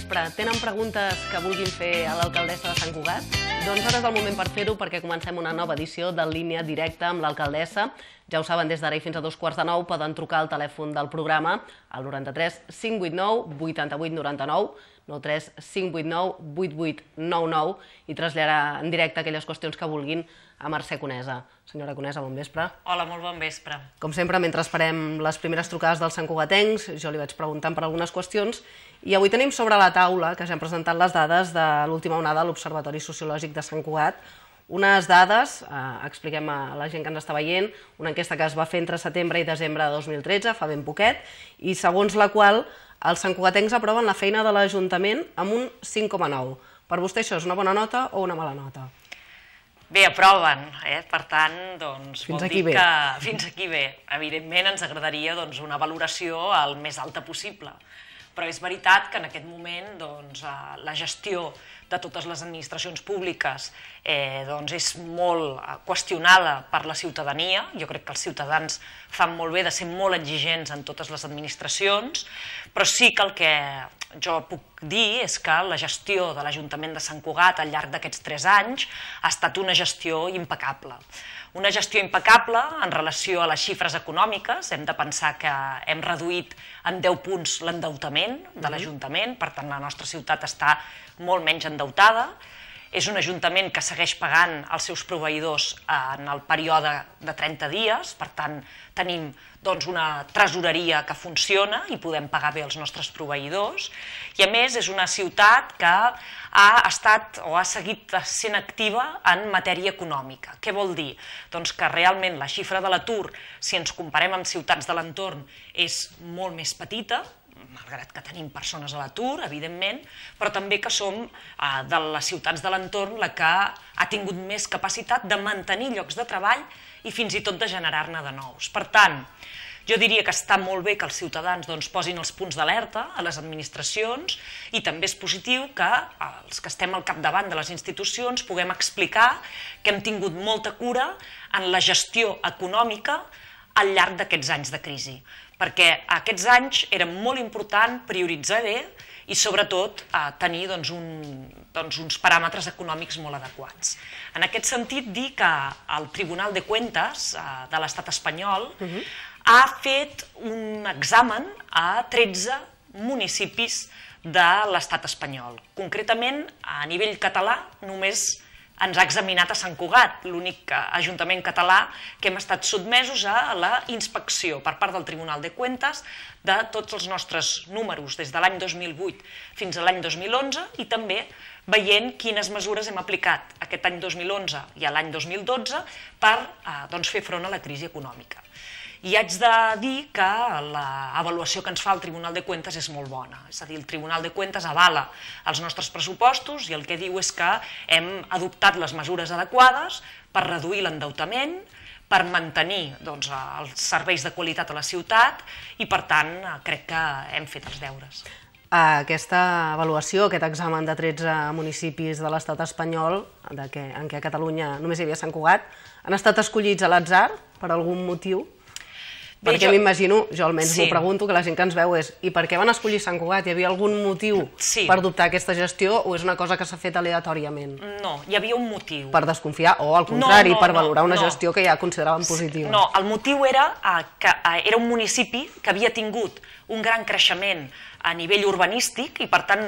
vespre. Tenen preguntes que vulguin fer a l'alcaldessa de Sant Cugat? Doncs ara és el moment per fer-ho, perquè comencem una nova edició de Línia Directa amb l'alcaldessa. Ja ho saben, des d'ara i fins a 2:15 poden trucar al telèfon del programa al 93 589 88 99, 93 589 8899 i traslladar en directe aquelles qüestions que vulguin a Mercè Conesa. Senyora Conesa, bon vespre. Hola, molt bon vespre. Com sempre, mentre esperem les primeres trucades dels santcugatencs, jo li vaig preguntant per algunes qüestions i avui tenim sobre la taula, que ja hem presentat les dades de l'última onada a l'Observatori Sociològic de Sant Cugat, unes dades, expliquem a la gent que ens està veient, una enquesta que es va fer entre setembre i desembre de 2013, fa ben poquet, i segons la qual els santcugatencs aproven la feina de l'Ajuntament amb un 5,9. Per vostè això és una bona nota o una mala nota? Bé, aproven, per tant, doncs, vol dir que fins aquí bé. Evidentment ens agradaria una valoració el més alta possible, però és veritat que en aquest moment la gestió de totes les administracions públiques és molt qüestionada per la ciutadania. Jo crec que els ciutadans fan molt bé de ser molt exigents en totes les administracions, però sí que el que jo puc dir és que la gestió de l'Ajuntament de Sant Cugat al llarg d'aquests 3 anys ha estat una gestió impecable. Una gestió impecable en relació a les xifres econòmiques. Hem de pensar que hem reduït en 10 punts l'endeutament de l'Ajuntament, per tant la nostra ciutat està molt menys endeutada. És un ajuntament que segueix pagant els seus proveïdors en el període de 30 dies, per tant tenim una tresoreria que funciona i podem pagar bé els nostres proveïdors. I a més és una ciutat que ha estat o ha seguit sent activa en matèria econòmica. Què vol dir? Doncs que realment la xifra de l'atur, si ens comparem amb ciutats de l'entorn, és molt més petita, malgrat que tenim persones a l'atur, evidentment, però també que som de les ciutats de l'entorn la que ha tingut més capacitat de mantenir llocs de treball i fins i tot de generar-ne de nous. Per tant, jo diria que està molt bé que els ciutadans posin els punts d'alerta a les administracions i també és positiu que els que estem al capdavant de les institucions puguem explicar que hem tingut molta cura en la gestió econòmica al llarg d'aquests anys de crisi, perquè aquests anys era molt important prioritzar bé i sobretot tenir uns paràmetres econòmics molt adequats. En aquest sentit, dir que el Tribunal de Cuentas de l'Estat espanyol ha fet un examen a 13 municipis de l'Estat espanyol. Concretament, a nivell català, només ens ha examinat a Sant Cugat, l'únic ajuntament català que hem estat sotmesos a la inspecció per part del Tribunal de Cuentas de tots els nostres números des de l'any 2008 fins a l'any 2011 i també veient quines mesures hem aplicat aquest any 2011 i l'any 2012 per fer front a la crisi econòmica. I haig de dir que l'avaluació que ens fa el Tribunal de Cuentas és molt bona. És a dir, el Tribunal de Cuentas avala els nostres pressupostos i el que diu és que hem adoptat les mesures adequades per reduir l'endeutament, per mantenir els serveis de qualitat a la ciutat i, per tant, crec que hem fet els deures. Aquesta avaluació, aquest examen de 13 municipis de l'estat espanyol, en què a Catalunya només hi havia Sant Cugat, han estat escollits a l'atzar per algun motiu? Perquè m'imagino, jo almenys m'ho pregunto, que la gent que ens veu és i per què van escollir Sant Cugat? Hi havia algun motiu per adoptar aquesta gestió o és una cosa que s'ha fet aleatòriament? No, hi havia un motiu. Per desconfiar o, al contrari, per valorar una gestió que ja consideraven positiva? No, el motiu era que era un municipi que havia tingut un gran creixement a nivell urbanístic i, per tant,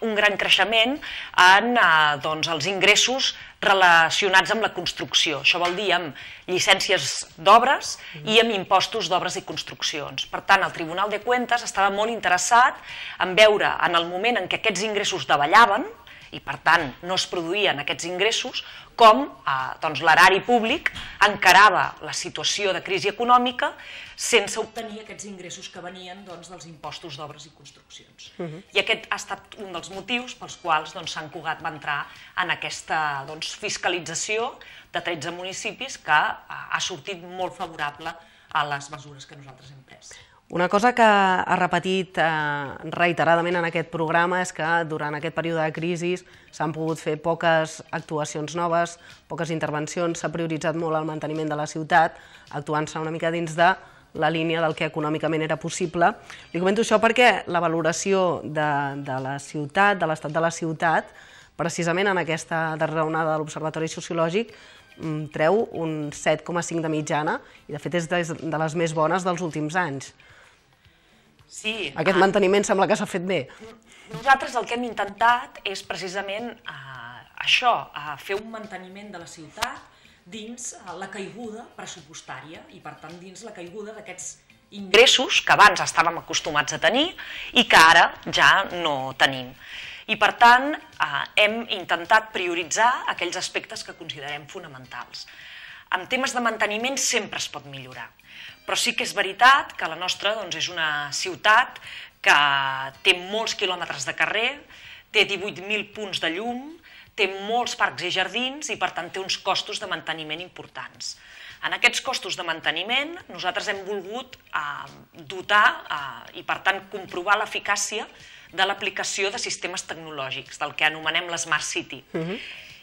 un gran creixement en els ingressos relacionats amb la construcció. Això vol dir amb llicències d'obres i amb impostos d'obres i construccions. Per tant, el Tribunal de Cuentas estava molt interessat en veure en el moment en què aquests ingressos davallaven i, per tant, no es produïen aquests ingressos, com l'erari públic encarava la situació de crisi econòmica sense obtenir aquests ingressos que venien dels impostos d'obres i construccions. I aquest ha estat un dels motius pels quals Sant Cugat va entrar en aquesta fiscalització de 13 municipis que ha sortit molt favorable a les mesures que nosaltres hem pres. Una cosa que ha repetit reiteradament en aquest programa és que durant aquest període de crisi s'han pogut fer poques actuacions noves, poques intervencions, s'ha prioritzat molt el manteniment de la ciutat, actuant-se una mica dins de la línia del que econòmicament era possible. Li comento això perquè la valoració de la ciutat, de l'estat de la ciutat, precisament en aquesta darrera onada de l'Observatori Sociològic, treu un 7,5 de mitjana i de fet és de les més bones dels últims anys. Sí. Aquest manteniment sembla que s'ha fet bé. Nosaltres el que hem intentat és precisament això, fer un manteniment de la ciutat dins la caiguda pressupostària i, per tant, dins la caiguda d'aquests ingressos que abans estàvem acostumats a tenir i que ara ja no tenim. I, per tant, hem intentat prioritzar aquells aspectes que considerem fonamentals. En temes de manteniment sempre es pot millorar, però sí que és veritat que la nostra és una ciutat que té molts quilòmetres de carrer, té 18.000 punts de llum, té molts parcs i jardins i, per tant, té uns costos de manteniment importants. En aquests costos de manteniment nosaltres hem volgut dotar i, per tant, comprovar l'eficàcia de l'aplicació de sistemes tecnològics, del que anomenem l'Smart City.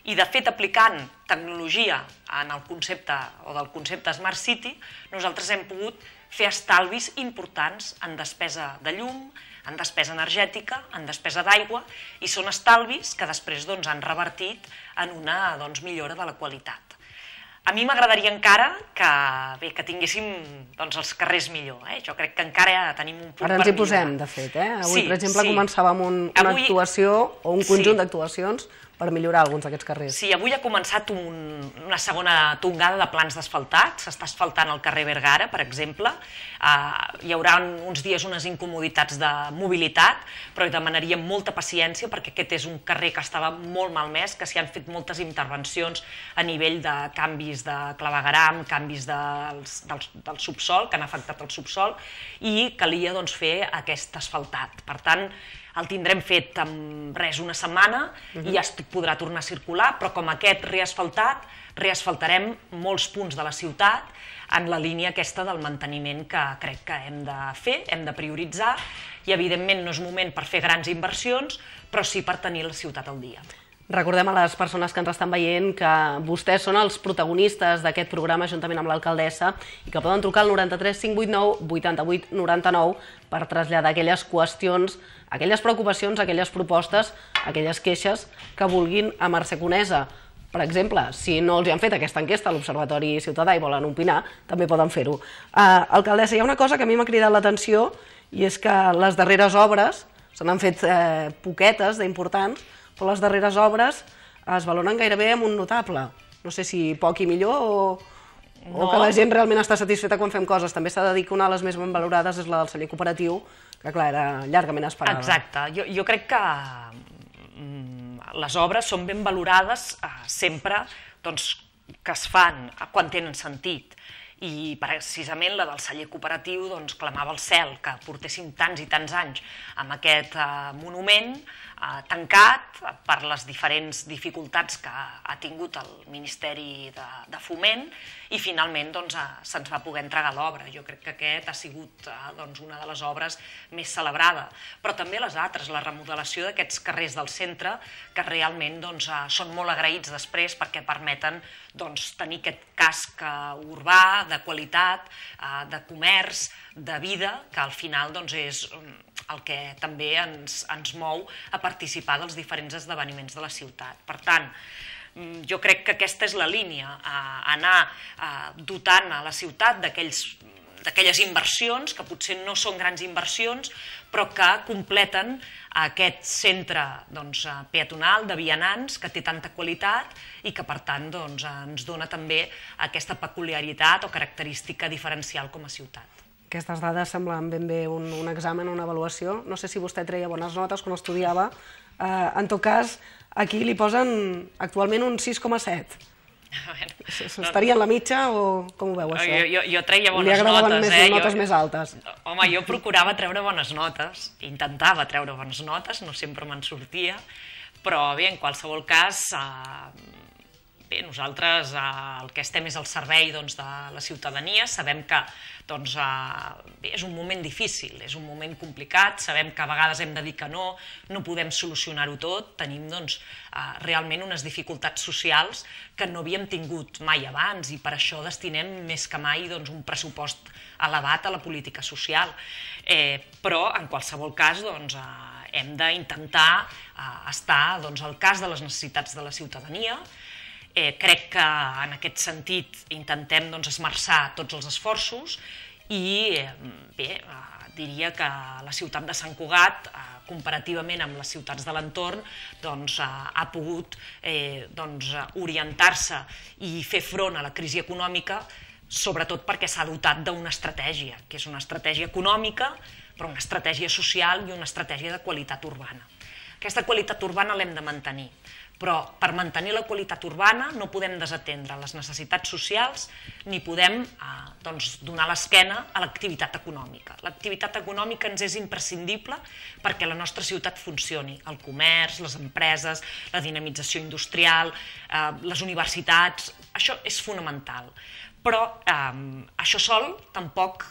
I, de fet, aplicant tecnologia en el concepte o del concepte Smart City, nosaltres hem pogut fer estalvis importants en despesa de llum, en despesa energètica, en despesa d'aigua, i són estalvis que després han revertit en una millora de la qualitat. A mi m'agradaria encara que tinguéssim els carrers millor. Jo crec que encara tenim un punt per millorar. Ara ens hi posem, de fet. Avui, per exemple, començàvem una actuació o un conjunt d'actuacions per millorar alguns d'aquests carrers. Sí, avui ha començat una segona tongada de plans d'asfaltat. S'està asfaltant el carrer Vergara, per exemple. Hi haurà uns dies unes incomoditats de mobilitat, però hi demanaríem molta paciència perquè aquest és un carrer que estava molt malmès, que s'hi han fet moltes intervencions a nivell de canvis de clavegueram, canvis del subsol, que han afectat el subsol, i calia fer aquest asfaltat. Per tant, el tindrem fet en una setmana i ja podrà tornar a circular, però com aquest reasfaltat, reasfaltarem molts punts de la ciutat en la línia aquesta del manteniment que crec que hem de fer, hem de prioritzar, i evidentment no és moment per fer grans inversions, però sí per tenir la ciutat al dia. Recordem a les persones que ens estan veient que vostès són els protagonistes d'aquest programa juntament amb l'alcaldessa i que poden trucar al 93 589 88 99 per traslladar aquelles qüestions, aquelles preocupacions, aquelles propostes, aquelles queixes que vulguin a Mercè Conesa. Per exemple, si no els han fet aquesta enquesta a l'Observatori Ciutadà i volen opinar, també poden fer-ho. Alcaldessa, hi ha una cosa que a mi m'ha cridat l'atenció i és que les darreres obres, se n'han fet poquetes d'importants, però les darreres obres es valoren gairebé amb un notable. No sé si poc i millor o que la gent realment està satisfeta quan fem coses. També s'ha de dir que una de les més ben valorades és la del celler cooperatiu, que clar, era llargament esperada. Exacte. Jo crec que les obres són ben valorades sempre que es fan quan tenen sentit. I precisament la del celler cooperatiu clamava al cel que portéssim tants i tants anys amb aquest monument tancat per les diferents dificultats que ha tingut el Ministeri de Foment i finalment se'ns va poder entregar l'obra. Jo crec que aquest ha sigut una de les obres més celebrada, però també les altres, la remodelació d'aquests carrers del centre que realment són molt agraïts després perquè permeten tenir aquest casc urbà de qualitat, de comerç, de vida, que al final és el que també ens mou a participar dels diferents esdeveniments de la ciutat. Per tant, jo crec que aquesta és la línia, anar dotant a la ciutat d'aquelles inversions, que potser no són grans inversions, però que completen aquest centre peatonal de vianants que té tanta qualitat i que, per tant, ens dona també aquesta peculiaritat o característica diferencial com a ciutat. Aquestes dades semblen ben bé un examen, una avaluació. No sé si vostè treia bones notes quan estudiava. En tot cas, aquí li posen actualment un 6,7. Estaria en la mitja o com ho veu, això? Jo treia bones notes. Li agradaven notes més altes? Home, jo procurava treure bones notes, intentava treure bones notes, no sempre me'n sortia, però bé, en qualsevol cas, bé, nosaltres el que estem és al servei de la ciutadania, sabem que és un moment difícil, és un moment complicat, sabem que a vegades hem de dir que no podem solucionar-ho tot, tenim realment unes dificultats socials que no havíem tingut mai abans i per això destinem més que mai un pressupost elevat a la política social. Però, en qualsevol cas, hem d'intentar estar al cas de les necessitats de la ciutadania. Crec que en aquest sentit intentem esmerçar tots els esforços i bé, diria que la ciutat de Sant Cugat, comparativament amb les ciutats de l'entorn, ha pogut orientar-se i fer front a la crisi econòmica, sobretot perquè s'ha dotat d'una estratègia, que és una estratègia econòmica, però una estratègia social i una estratègia de qualitat urbana. Aquesta qualitat urbana l'hem de mantenir, però per mantenir la qualitat urbana no podem desatendre les necessitats socials ni podem donar l'esquena a l'activitat econòmica. L'activitat econòmica ens és imprescindible perquè la nostra ciutat funcioni. El comerç, les empreses, la dinamització industrial, les universitats, això és fonamental. Però això sol tampoc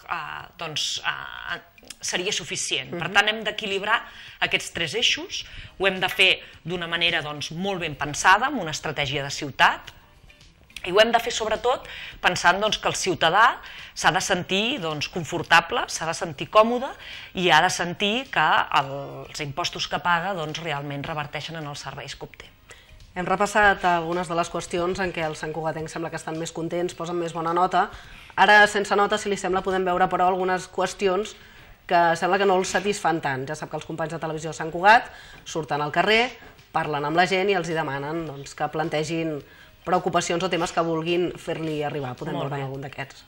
seria suficient. Per tant, hem d'equilibrar aquests tres eixos, ho hem de fer d'una manera molt ben pensada, amb una estratègia de ciutat, i ho hem de fer sobretot pensant que el ciutadà s'ha de sentir confortable, s'ha de sentir còmode i ha de sentir que els impostos que paga realment reverteixen en els serveis que obté. Hem repassat algunes de les qüestions en què els santcugatencs sembla que estan més contents, posen més bona nota. Ara, sense nota, si li sembla, podem veure, però, algunes qüestions que sembla que no els satisfan tant. Ja sap que els companys de televisió de Sant Cugat surten al carrer, parlen amb la gent i els demanen que plantegin preocupacions o temes que vulguin fer-li arribar. Podem veure algun d'aquests.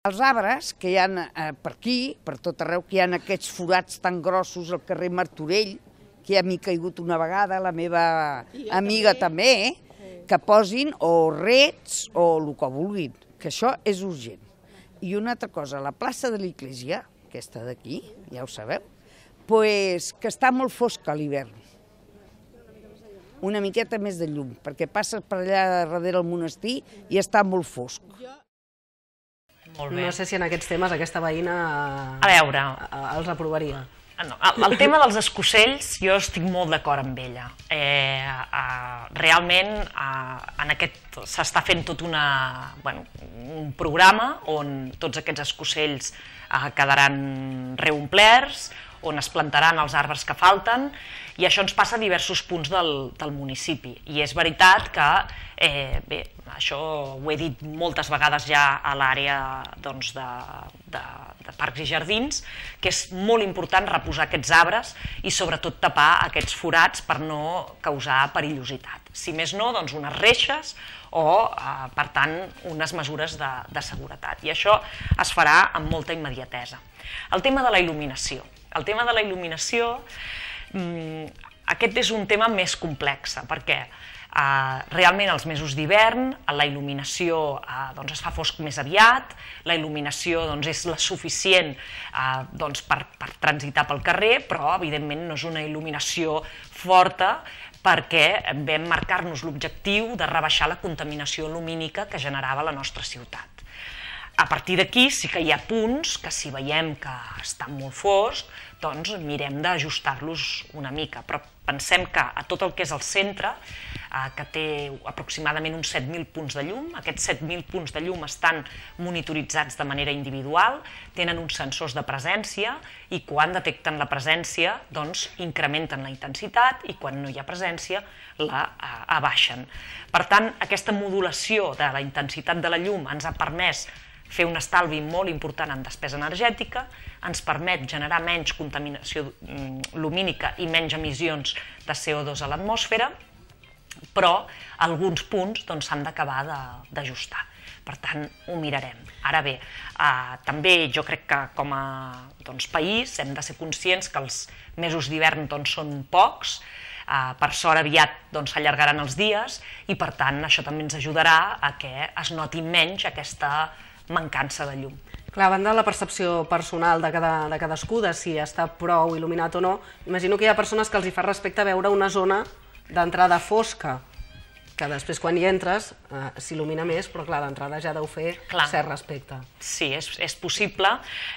Els arbres que hi ha per aquí, per tot arreu, que hi ha aquests forats tan grossos al carrer Martorell, que ja m'hi ha caigut una vegada, la meva amiga també, que posin o rets o el que vulguin, que això és urgent. I una altra cosa, la plaça de l'Església, aquesta d'aquí, ja ho sabeu, que està molt fosca a l'hivern. Una miqueta més de llum, perquè passes per allà darrere el monestir i està molt fosc. No sé si en aquests temes aquesta veïna els aprovaria. El tema dels escocells, jo estic molt d'acord amb ella. Realment s'està fent tot un programa on tots aquests escocells quedaran reomplerts, on es plantaran els arbres que falten, i això ens passa a diversos punts del municipi. I és veritat que, bé, això ho he dit moltes vegades ja a l'àrea de parcs i jardins, que és molt important reposar aquests arbres i sobretot tapar aquests forats per no causar perillositat. Si més no, doncs unes reixes o, per tant, unes mesures de seguretat. I això es farà amb molta immediatesa. El tema de la il·luminació. El tema de la il·luminació, aquest és un tema més complex, perquè realment als mesos d'hivern la il·luminació es fa fosc més aviat, la il·luminació és la suficient per transitar pel carrer, però evidentment no és una il·luminació forta perquè vam marcar-nos l'objectiu de rebaixar la contaminació lumínica que generava la nostra ciutat. A partir d'aquí sí que hi ha punts que si veiem que estan molt foscs, doncs mirem d'ajustar-los una mica, però pensem que a tot el que és el centre, que té aproximadament uns 7.000 punts de llum, aquests 7.000 punts de llum estan monitoritzats de manera individual, tenen uns sensors de presència i quan detecten la presència doncs incrementen la intensitat i quan no hi ha presència la abaixen. Per tant, aquesta modulació de la intensitat de la llum ens ha permès fer un estalvi molt important en despesa energètica, ens permet generar menys contaminació lumínica i menys emissions de CO2 a l'atmosfera, però alguns punts s'han d'acabar d'ajustar. Per tant, ho mirarem. Ara bé, també jo crec que com a país hem de ser conscients que els mesos d'hivern són pocs, per sort aviat s'allargaran els dies i per tant això també ens ajudarà a que es noti menys aquesta mancança de llum. Clar, a banda de la percepció personal de cadascú, de si està prou il·luminat o no, imagino que hi ha persones que els hi fa respecte veure una zona d'entrada fosca, que després quan hi entres s'il·lumina més, però clar, d'entrada ja deu fer cert respecte. Sí, és possible.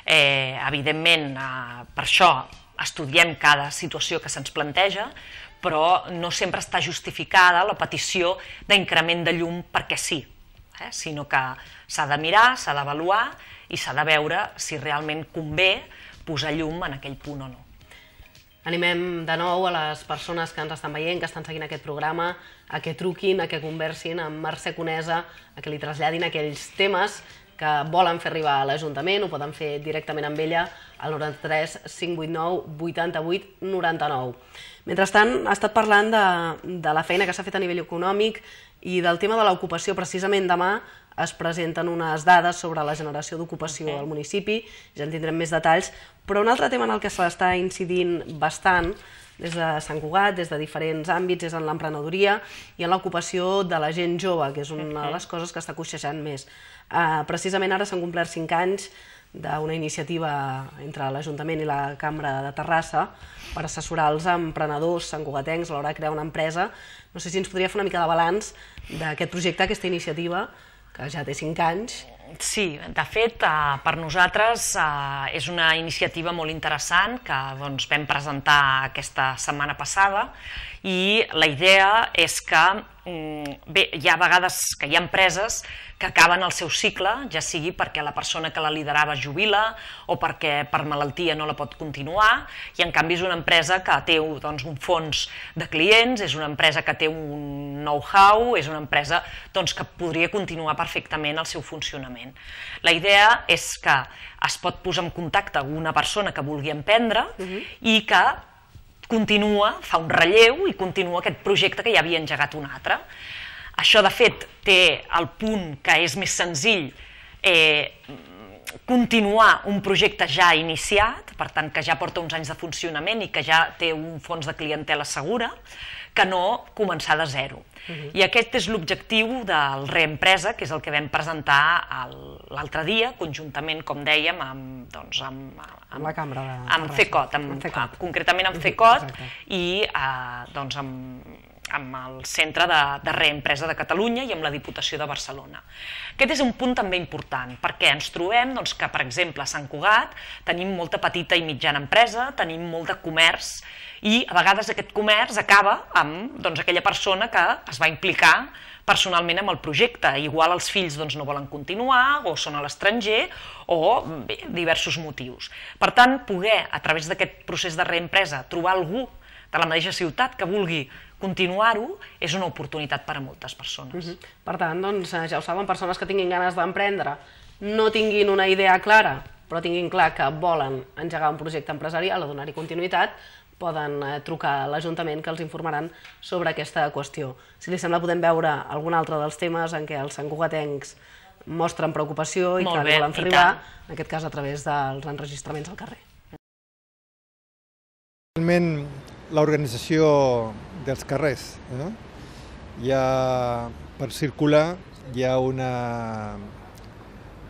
Evidentment, per això estudiem cada situació que se'ns planteja, però no sempre està justificada la petició d'increment de llum perquè sí, sinó que s'ha de mirar, s'ha d'avaluar i s'ha de veure si realment convé posar llum en aquell punt o no. Animem de nou a les persones que ens estan veient, que estan seguint aquest programa, a que truquin, a que conversin amb Mercè Conesa, a que li traslladin aquells temes que volen fer arribar a l'Ajuntament, ho poden fer directament amb ella al 93 589 88 99. Mentrestant, ha estat parlant de la feina que s'ha fet a nivell econòmic i del tema de l'ocupació. Precisament demà es presenten unes dades sobre la generació d'ocupació al municipi, ja en tindrem més detalls, però un altre tema en el que s'està incidint bastant des de Sant Cugat, des de diferents àmbits, és en l'emprenedoria i en l'ocupació de la gent jove, que és una de les coses que està coixejant més. Precisament ara s'han complert 5 anys d'una iniciativa entre l'Ajuntament i la Cambra de Terrassa per assessorar els emprenedors santcugatencs a l'hora de crear una empresa. No sé si ens podria fer una mica de balanç d'aquest projecte, aquesta iniciativa, que ja té 5 anys. Sí, de fet, per nosaltres és una iniciativa molt interessant que vam presentar aquesta setmana passada i la idea és que hi ha vegades que hi ha empreses que acaben el seu cicle, ja sigui perquè la persona que la liderava es jubila o perquè per malaltia no la pot continuar, i en canvi és una empresa que té un fons de clients, és una empresa que té un know-how, és una empresa que podria continuar perfectament el seu funcionament. La idea és que es pot posar en contacte amb una persona que vulgui emprendre i que continua, fa un relleu i continua aquest projecte que ja havia engegat un altre. Això, de fet, té el punt que és més senzill continuar un projecte ja iniciat, per tant, que ja porta uns anys de funcionament i que ja té un fons de clientela segura, que no començar de zero. I aquest és l'objectiu del Reempresa, que és el que vam presentar l'altre dia, conjuntament, com dèiem, amb la Cambra de Terrassa. Amb CECOT, concretament amb CECOT i amb el Centre de Reempresa de Catalunya i amb la Diputació de Barcelona. Aquest és un punt també important, perquè ens trobem que, per exemple, a Sant Cugat tenim molta petita i mitjana empresa, tenim molt de comerç, i a vegades aquest comerç acaba amb aquella persona que es va implicar personalment amb el projecte. Igual els fills no volen continuar, o són a l'estranger, o diversos motius. Per tant, poder, a través d'aquest procés de reempresa, trobar algú de la mateixa ciutat que vulgui continuar-ho, és una oportunitat per a moltes persones. Per tant, ja ho saben, persones que tinguin ganes d'emprendre, no tinguin una idea clara, però tinguin clar que volen engegar un projecte empresarial o donar-hi continuïtat, poden trucar a l'Ajuntament que els informaran sobre aquesta qüestió. Si li sembla, podem veure algun altre dels temes en què els santcugatencs mostren preocupació i que volen fer arribar, en aquest cas a través dels enregistraments al carrer. Realment, l'organització dels carrers, per circular hi ha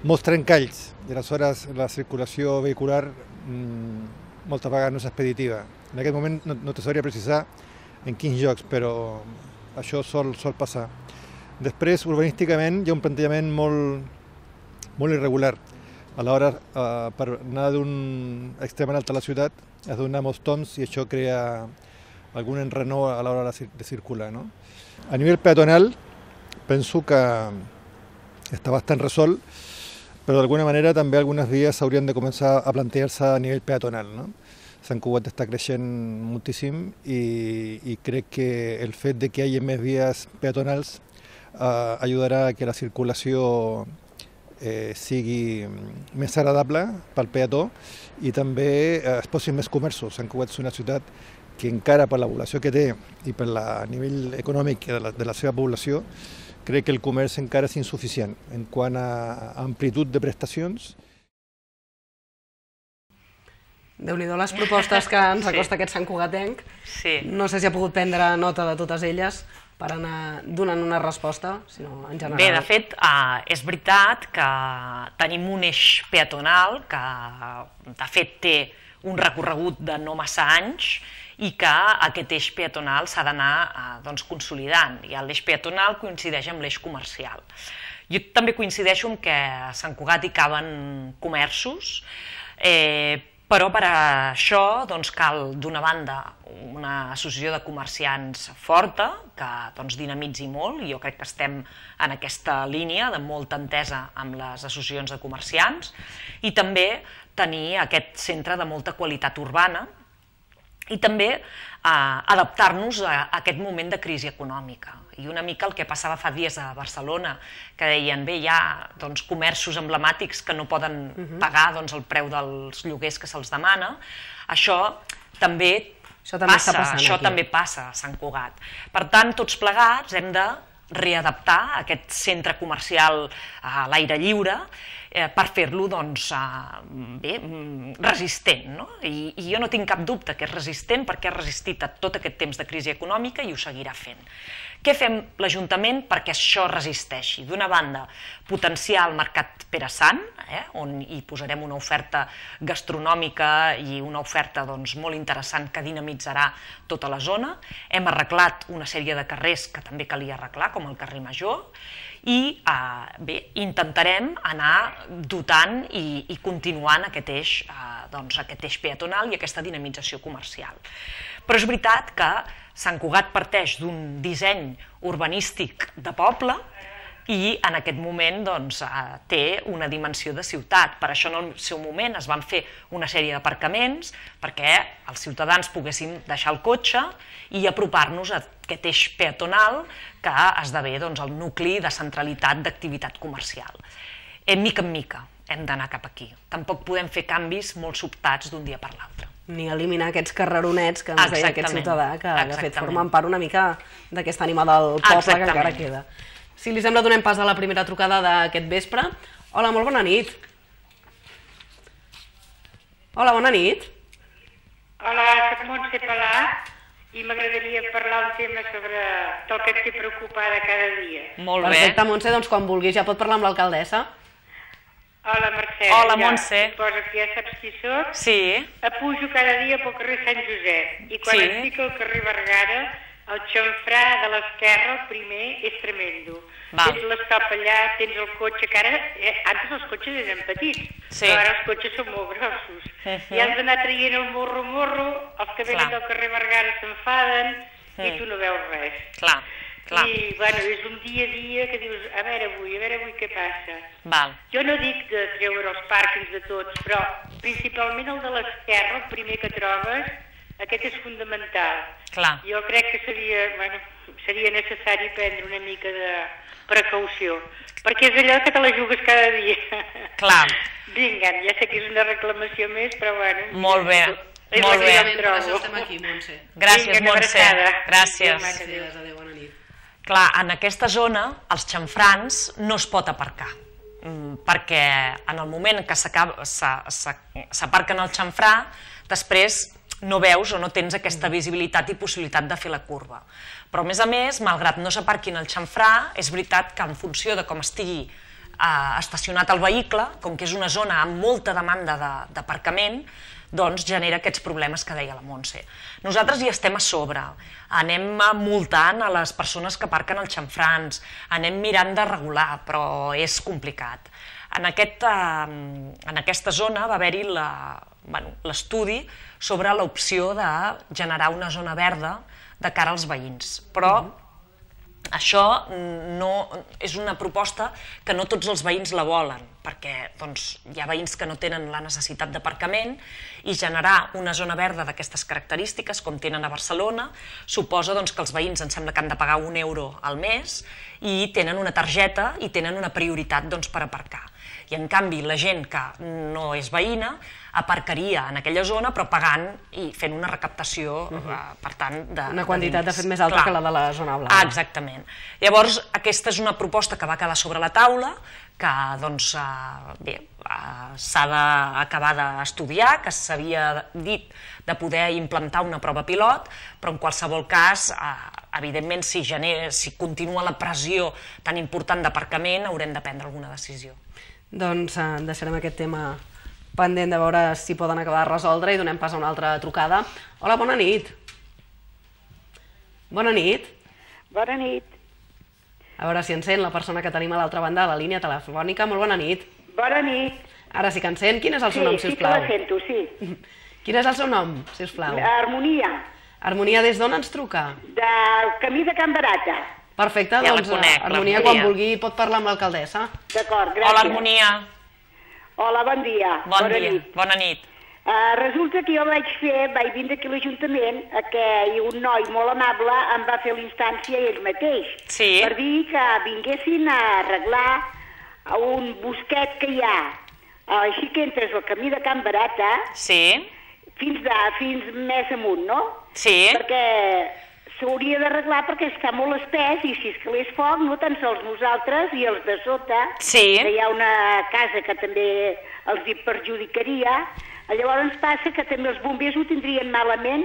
molts trencalls i aleshores la circulació vehicular moltes vegades no és expeditiva. En aquest moment no te sabria precisar en quins llocs, però això sol passar. Després, urbanísticament, hi ha un plantejament molt irregular. A l'hora, per anar d'un extrem a l'altre de la ciutat, has de donar molts toms i això crea algun enrenou a l'hora de circular. A nivell peatonal, penso que està bastant resolt, però d'alguna manera també algunes vies s'haurien de començar a plantejar-se a nivell peatonal. Sant Cugat està creixent moltíssim i crec que el fet de que hi hagi més vies peatonals ajudarà a que la circulació sigui més agradable pel peató i també es posin més comerços. Sant Cugat és una ciutat que encara per la població que té i per el nivell econòmic de la seva població, crec que el comerç encara és insuficient en quant a amplitud de prestacions. Déu-n'hi-do les propostes que ens acosta aquest santcugatenc. No sé si ha pogut prendre nota de totes elles per anar donant una resposta, sinó en general. Bé, de fet, és veritat que tenim un eix peatonal que, de fet, té un recorregut de no massa anys i que aquest eix peatonal s'ha d'anar consolidant. I l'eix peatonal coincideix amb l'eix comercial. Jo també coincideixo en que a Sant Cugat hi caben comerços, però per això cal, d'una banda, una associació de comerciants forta, que dinamitzi molt, i jo crec que estem en aquesta línia de molta entesa amb les associacions de comerciants, i també tenir aquest centre de molta qualitat urbana, i també adaptar-nos a aquest moment de crisi econòmica. I una mica el que passava fa dies a Barcelona, que deien, bé, hi ha comerços emblemàtics que no poden pagar el preu dels lloguers que se'ls demana. Això també passa a Sant Cugat. Per tant, tots plegats hem de readaptar aquest centre comercial a l'aire lliure per fer-lo resistent. I jo no tinc cap dubte que és resistent perquè ha resistit a tot aquest temps de crisi econòmica i ho seguirà fent. Què fem l'Ajuntament perquè això resisteixi? D'una banda, potenciar el mercat Pere Sant, on hi posarem una oferta gastronòmica i una oferta molt interessant que dinamitzarà tota la zona. Hem arreglat una sèrie de carrers que també calia arreglar, com el carrer Major, i intentarem anar dotant i continuant aquest eix peatonal i aquesta dinamització comercial. Però és veritat que Sant Cugat parteix d'un disseny urbanístic de poble i en aquest moment té una dimensió de ciutat. Per això en el seu moment es van fer una sèrie d'aparcaments perquè els ciutadans poguessin deixar el cotxe i apropar-nos a aquest eix peatonal que esdevé el nucli de centralitat d'activitat comercial. Mica en mica hem d'anar cap aquí. Tampoc podem fer canvis molt sobtats d'un dia per l'altre. Ni eliminar aquests carreronets que ens deia aquest ciutadà, que de fet formen part una mica d'aquesta ànima del poble que encara queda. Si li sembla, donem pas a la primera trucada d'aquest vespre. Hola, molt bona nit. Hola, bona nit. Hola, soc Montse Palà i m'agradaria parlar un tema sobre el que et té preocupada cada dia. Molt bé. Perfecte, Montse, doncs quan vulguis ja pot parlar amb l'alcaldessa. Hola, Mercè. Hola, Montse. Suposo que ja saps qui soc. Sí. Pujo cada dia pel carrer Sant Josep i quan estic al carrer Vergara, el xamfrà de l'esquerra, el primer, és tremendo. Tens l'estop allà, tens el cotxe, que ara, antes els cotxes eren petits, però ara els cotxes són molt grossos. I has d'anar traient el morro, els que venen del carrer Vergara s'enfaden i tu no veus res. Clar. I, bueno, és un dia a dia que dius, a veure avui què passa. Jo no dic de treure els pàrquings de tots, però principalment el de l'esquerra, el primer que trobes, aquest és fundamental. Jo crec que seria necessari prendre una mica de precaució, perquè és allò que te la jugues cada dia. Vinga, ja sé que és una reclamació més, però bueno. Molt bé. Molt bé. Per això estem aquí, Montse. Gràcies, Montse. Gràcies. Adéu, bona nit. Clar, en aquesta zona, els xamfrans no es pot aparcar, perquè en el moment que s'aparquen el xamfrà, després no veus o no tens aquesta visibilitat i possibilitat de fer la curva. Però, a més, malgrat no s'aparquin el xamfrà, és veritat que en funció de com estigui estacionat el vehicle, com que és una zona amb molta demanda d'aparcament, doncs genera aquests problemes que deia la Montse. Nosaltres hi estem a sobre, anem multant a les persones que aparquen els xamfrans, anem mirant de regular, però és complicat. En aquesta zona va haver-hi l'estudi sobre l'opció de generar una zona verda de cara als veïns, però això és una proposta que no tots els veïns la volen, perquè hi ha veïns que no tenen la necessitat d'aparcament i generar una zona verda d'aquestes característiques, com tenen a Barcelona, suposa que els veïns em sembla que han de pagar €1 al mes i tenen una targeta i tenen una prioritat per aparcar. I en canvi la gent que no és veïna aparcaria en aquella zona però pagant i fent una recaptació, per tant, una quantitat de fet més alta que la de la zona blava. Exactament. Llavors aquesta és una proposta que va quedar sobre la taula, que s'ha d'acabar d'estudiar, que s'havia dit de poder implantar una prova pilot, però en qualsevol cas, evidentment, si continua la pressió tan important d'aparcament, haurem de prendre alguna decisió. Doncs deixarem aquest tema pendent de veure si poden acabar de resoldre i donem pas a una altra trucada. Hola, bona nit. Bona nit. Bona nit. A veure si encén la persona que tenim a l'altra banda de la línia telefònica. Molt bona nit. Bona nit. Ara sí que encén. Quin és el seu nom, sisplau? Sí, sí que la sento, sí. Quin és el seu nom, sisplau? Harmonia. Harmonia, des d'on ens truca? Del camí de Can Barata. Perfecte, doncs Harmonia, quan vulgui pot parlar amb l'alcaldessa. D'acord, gràcies. Hola, Harmonia. Hola, bon dia. Bon dia, bona nit. Resulta que jo vaig vindre aquí a l'Ajuntament i un noi molt amable em va fer l'instància ell mateix per dir que vinguessin a arreglar un bosquet que hi ha així que entres al camí de Can Barata fins més amunt, no? Sí. Perquè s'hauria d'arreglar perquè està molt espès i si escalés foc, no tan sols nosaltres i els de sota, que hi ha una casa que també els hi perjudicaria. Llavors passa que també els bombers ho tindrien malament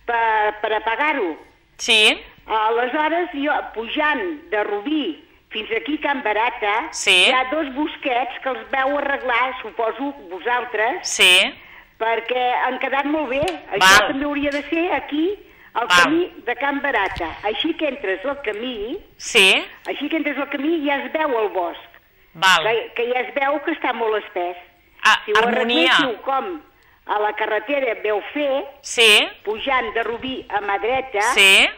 per apagar-ho. Sí. Aleshores, jo, pujant de Rubí fins aquí a Can Barata, hi ha dos bosquets que els vau arreglar, suposo, vosaltres, perquè han quedat molt bé. Això també hauria de ser aquí, al camí de Can Barata. Així que entres al camí, ja es veu el bosc, que ja es veu que està molt espès. Si ho arregléssiu com a la carretera veu fer, pujant de Rubí a mà dreta,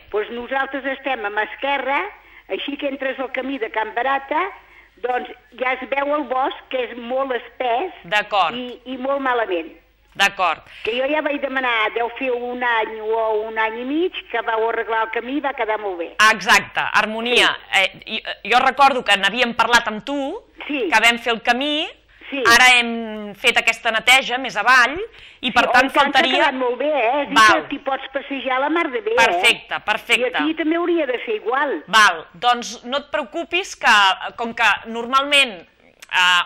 doncs nosaltres estem a mà esquerra, així que entres al camí de Can Barata, doncs ja es veu el bosc, que és molt espès i molt malament. D'acord. Que jo ja vaig demanar, deu fer un any o un any i mig, que vau arreglar el camí i va quedar molt bé. Exacte, Harmonia. Jo recordo que n'havíem parlat amb tu, que vam fer el camí, ara hem fet aquesta neteja més avall, i per tant faltaria... S'ha quedat molt bé, és dir que t'hi pots passejar a la mar de bé, Perfecte, perfecte. I aquí també hauria de ser igual. Val, doncs no et preocupis que, com que normalment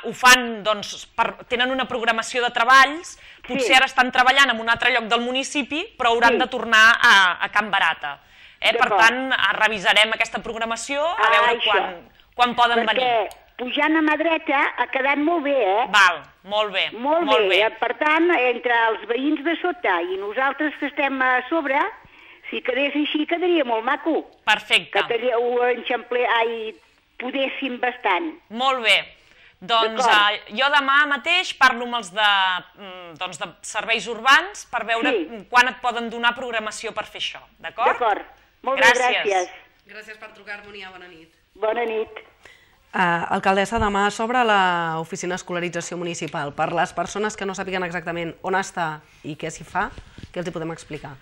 ho fan, doncs, tenen una programació de treballs, potser ara estan treballant en un altre lloc del municipi, però hauran de tornar a Can Barata. Per tant, revisarem aquesta programació, a veure quan poden venir. Perquè pujant a mà dreta ha quedat molt bé, Val, molt bé. Molt bé. Per tant, entre els veïns de sota i nosaltres que estem a sobre, si quedés així, quedaria molt maco. Perfecte. Que ho podéssim bastant. Molt bé. Doncs jo demà mateix parlo amb els de serveis urbans per veure quan et poden donar programació per fer això, d'acord? D'acord. Molt bé, gràcies. Gràcies per trucar, Harmonia. Bona nit. Bona nit. Alcaldessa, demà s'obre l'oficina escolarització municipal. Per les persones que no sàpiguen exactament on està i què s'hi fa, què els hi podem explicar?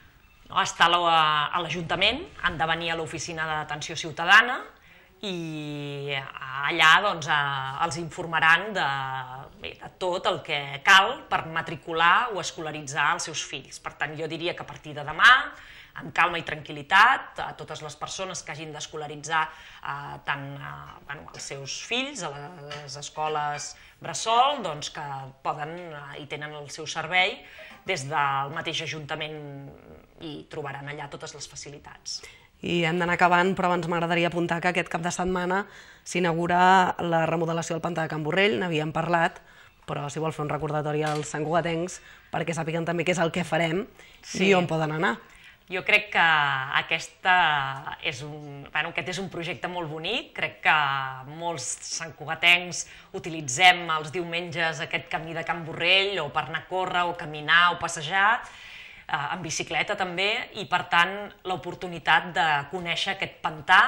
Està a l'Ajuntament, han de venir a l'oficina d'atenció ciutadana i allà els informaran de tot el que cal per matricular o escolaritzar els seus fills. Per tant, jo diria que a partir de demà, amb calma i tranquil·litat, a totes les persones que hagin d'escolaritzar tant els seus fills a les escoles bressol, que poden i tenen el seu servei des del mateix Ajuntament i trobaran allà totes les facilitats. I hem d'anar acabant, però abans m'agradaria apuntar que aquest cap de setmana s'inaugura la remodelació del pantà de Can Borrell, n'havíem parlat, però si vol fer un recordatori als santcugatencs perquè sàpiguen també què és el que farem i on poden anar. Jo crec que aquest és un projecte molt bonic, crec que molts santcugatencs utilitzem els diumenges aquest camí de Can Borrell o per anar a córrer o caminar o passejar, en bicicleta també, i per tant l'oportunitat de conèixer aquest pantà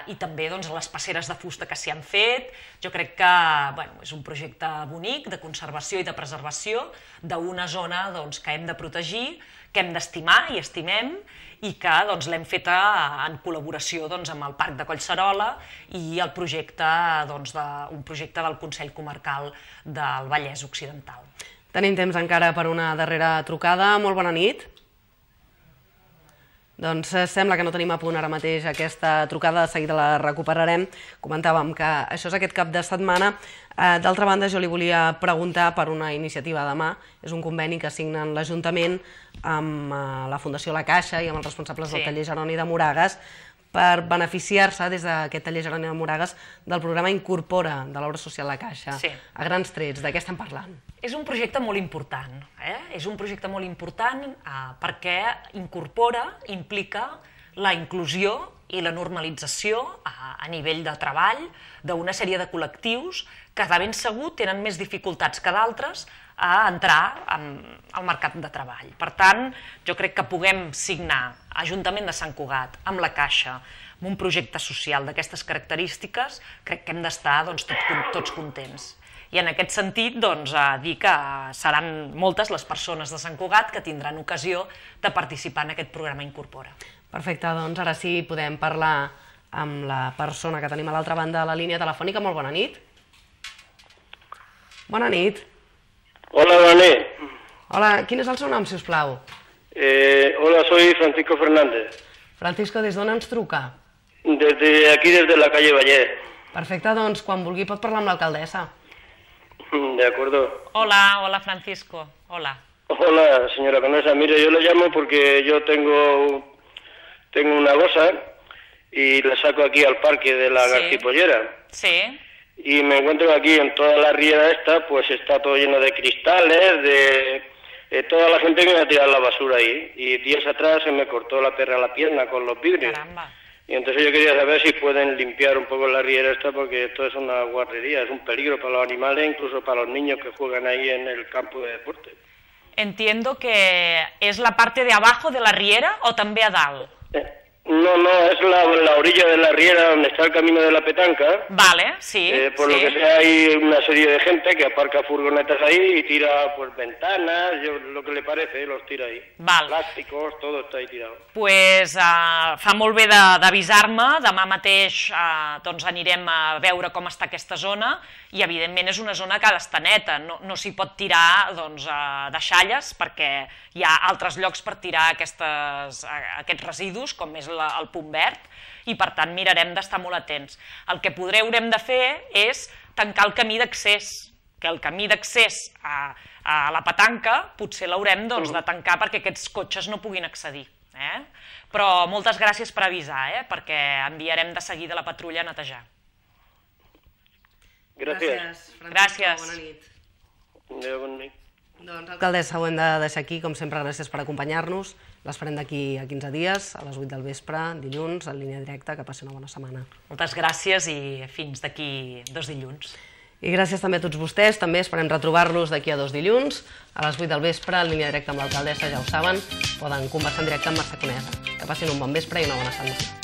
i també les passeres de fusta que s'hi han fet. Jo crec que és un projecte bonic de conservació i de preservació d'una zona que hem de protegir, que hem d'estimar i estimem, i que l'hem feta en col·laboració amb el Parc de Collserola i el projecte del Consell Comarcal del Vallès Occidental. Tenim temps encara per una darrera trucada. Molt bona nit. Doncs sembla que no tenim a punt ara mateix aquesta trucada, de seguida la recuperarem. Comentàvem que això és aquest cap de setmana. D'altra banda, jo li volia preguntar per una iniciativa demà. És un conveni que signen l'Ajuntament amb la Fundació La Caixa i amb els responsables del taller Jeroni de Moragas per beneficiar-se des d'aquest taller Jeroni de Moragas del programa Incorpora de l'obra social La Caixa. A grans trets, de què estem parlant? És un projecte molt important, és un projecte molt important perquè incorpora, implica la inclusió i la normalització a nivell de treball d'una sèrie de col·lectius que de ben segur tenen més dificultats que d'altres a entrar al mercat de treball. Per tant, jo crec que puguem signar Ajuntament de Sant Cugat amb la Caixa, amb un projecte social d'aquestes característiques, crec que hem d'estar tots contents. I en aquest sentit, dir que seran moltes les persones de Sant Cugat que tindran ocasió de participar en aquest programa Incorpora. Perfecte, doncs ara sí podem parlar amb la persona que tenim a l'altra banda de la línia telefònica. Molt bona nit. Bona nit. Hola, bona nit. Hola, quin és el seu nom, si us plau? Hola, soy Francisco Fernández. Francisco, des d'on ens truca? Aquí, desde la calle Valle. Perfecte, doncs quan vulgui pot parlar amb l'alcaldessa. De acuerdo. Hola Francisco. Hola. Hola, señora Conesa. Mire, yo le llamo porque yo tengo una gosa y la saco aquí al parque de la Garcipollera. Sí. Y me encuentro aquí en toda la riera esta, pues está todo lleno de cristales, de toda la gente que me ha tirado la basura ahí. Y días atrás se me cortó la perra la pierna con los vidrios. Caramba. Y entonces yo quería saber si pueden limpiar un poco la riera esta, porque esto es una guarrería, es un peligro para los animales, incluso para los niños que juegan ahí en el campo de deporte. Entiendo que es la parte de abajo de la riera o també a dalt. No, es la orilla de la riera donde está el camino de la petanca. Vale, sí. Por lo que sea, hay una serie de gente que aparca furgonetas ahí y tira pues ventanas, lo que le parece, los tira ahí. Val. Plàsticos, todo está ahí tirado. Pues fa molt bé d'avisar-me, demà mateix anirem a veure com està aquesta zona i evidentment és una zona que ha d'estar neta, no s'hi pot tirar deixalles perquè hi ha altres llocs per tirar aquests residus, com és el punt verd, i per tant mirarem d'estar molt atents. El que haurem de fer és tancar el camí d'accés, que el camí d'accés a la petanca potser l'haurem de tancar perquè aquests cotxes no puguin accedir. Però moltes gràcies per avisar, perquè enviarem de seguida la patrulla a netejar. Gràcies. Gràcies. Bona nit. Bona nit. Doncs, alcaldessa, ho hem de deixar aquí. Com sempre, gràcies per acompanyar-nos. L'esperem d'aquí a 15 dies, a les 8 del vespre, dilluns, en línia directa. Que passi una bona setmana. Moltes gràcies i fins d'aquí 2 dilluns. I gràcies també a tots vostès. També esperem retrobar-los d'aquí a 2 dilluns, a les 8 del vespre, en línia directa amb l'alcaldessa, ja ho saben. Poden conversar en directe amb Mercè Conesa. Que passin un bon vespre i una bona setmana.